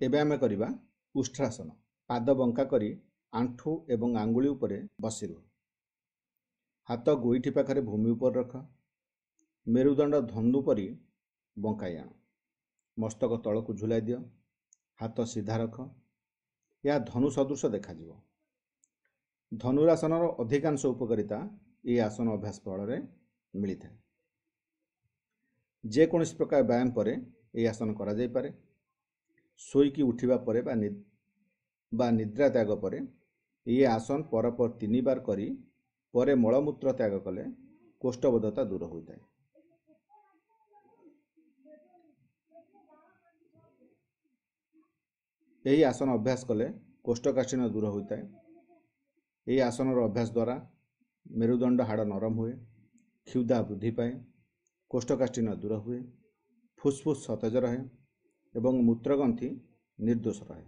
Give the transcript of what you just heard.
ଏବେ ଆମେ କରିବା ଉଷ୍ଟ୍ରାସନ। ପାଦ ବଙ୍କା କରି ଆଣ୍ଠୁ ଏବଂ ଆଙ୍ଗୁଳି ଉପରେ ବସି ରୁହ। ହାତ ଗୋଇଠି ପାଖରେ ଭୂମି ଉପରେ ରଖ। ମେରୁଦଣ୍ଡ ଧନୁ ପରି ବଙ୍କାଇ ଆଣ। ମସ୍ତକ ତଳକୁ ଝୁଲାଇ ଦିଅ। ହାତ ସିଧା ରଖ। ଏହା ଧନୁ ସଦୃଶ ଦେଖାଯିବ। ଧନୁରାସନର ଅଧିକାଂଶ ଉପକାରିତା ଏହି ଆସନ ଅଭ୍ୟାସ ଫଳରେ ମିଳିଥାଏ। ଯେକୌଣସି ପ୍ରକାର ବ୍ୟାୟାମ ପରେ ଏହି ଆସନ କରାଯାଇପାରେ। ଶୋଇକି ଉଠିବା ପରେ ବା ନିଦ୍ରା ତ୍ୟାଗ ପରେ ଏହି ଆସନ ପରପର 3 ବାର କରି ପରେ ମଳମୂତ୍ର ତ୍ୟାଗ କଲେ କୋଷ୍ଠବଦ୍ଧତା ଦୂର ହୋଇଥାଏ। ଏହି ଆସନ ଅଭ୍ୟାସ କଲେ କୋଷ୍ଠକାଠିନ୍ୟ ଦୂର ହୋଇଥାଏ। ଏହି ଆସନର ଅଭ୍ୟାସ ଦ୍ୱାରା ମେରୁଦଣ୍ଡ ହାଡ଼ ନରମ ହୁଏ, କ୍ଷୁଧା ବୃଦ୍ଧି ପାଏ, କୋଷ୍ଠକାଠିନ୍ୟ ଦୂର ହୁଏ, ଫୁସଫୁସ ସତେଜ ରହେ ଏବଂ ମୂତ୍ରଗ୍ରନ୍ଥି ନିର୍ଦ୍ଦୋଷ ରହେ।